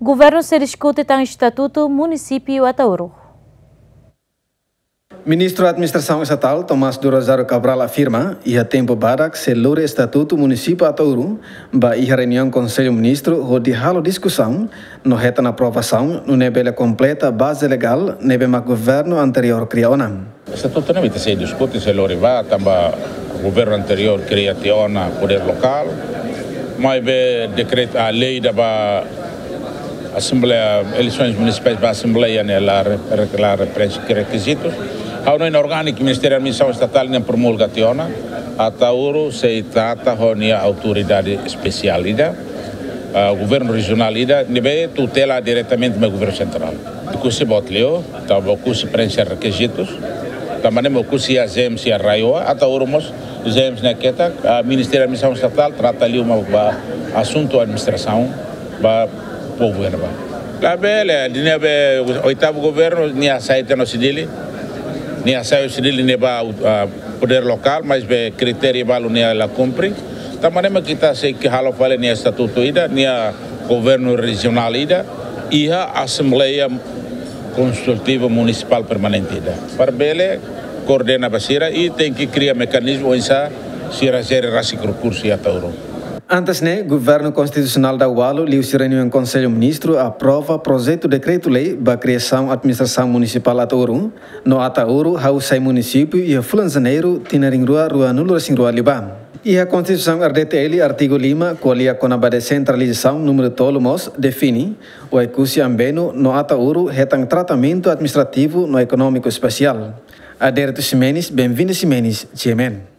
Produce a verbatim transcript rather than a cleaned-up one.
Governu sei diskute tan estatutu munisípiu Ataúru. Ministru Administrasaun Estatál Tomás do Rosário Cabral afirma, iha tempu badak sei lori estatutu munisípiu Ataúru ba iha reuniaun Konsellu Ministru hodi halo diskusaun no hetan aprovasaun nune'e bele kompleta baze legál ne'ebé mak governu anteriór kria ona. Estatutu ne'e ita sei diskute, sei lori ba, tanba governu anteriór kria tiha ona podér lokál, maibé dekretu, a lei ida ba Assembleia, eleisoens munisipais ba Assembleia ne'e la re-, re-, la preenxe rekizitus. Ha'u hanoin orgániku Ministériu Administrasaun Estatál ne'e promulga tiha ona, Ataúru sei trata ho nia autoridade espesiál ida, ah, governu rejionál ida, ne'ebé tutela diretamente ba governu sentrál. Oekusi boot liu, tanba Oekusi preenxe rekizitus, tanba ne'e mak Oekusi iha ZEESM iha RAEOA, Ataúru mós ZEESM ne'e ketak, ah, Ministériu Administrasaun Estatál trata liu mak ba asuntu administrasaun ba povu ne'ebá. Labele, ne'ebé oitavu governu, nia hasai tiha ona husi Dili, nia hasai husi Dili ne'e ba, ah, podér lokál, maibé kritériu balu nia la kumpre. Tanba ne'e mak ita sei halo fali nia estatutu ida, nia governu rejionál ida, iha Assembleia Konsultiva Munisipál Permanente ida. Para bele koordena ba sira i tenke kria mekanizmu oinsá sira jere rasik rekursu iha Ataúru. Antes ne'e, Governu Konstitusionál daudaun liuhusi reuniaun Konsellu Ministru aprova projetu dekretu-lei ba kriasaun administrasaun munisipál Ataúru, no Ataúru hahú sai munisípiu iha fulan Janeiru tinan rihun rua ruanulu-resin-rua liubá. Iha Konstituisaun R D T L artigu lima, ko'alia kona-ba desentralizasaun, númeru tolu mós define Oekusi, Ambenu no Ataúru hetan tratamentu administrativu no ekonómiku espesiál. Adérito Ximenes, Benvinda Ximenes, G M N.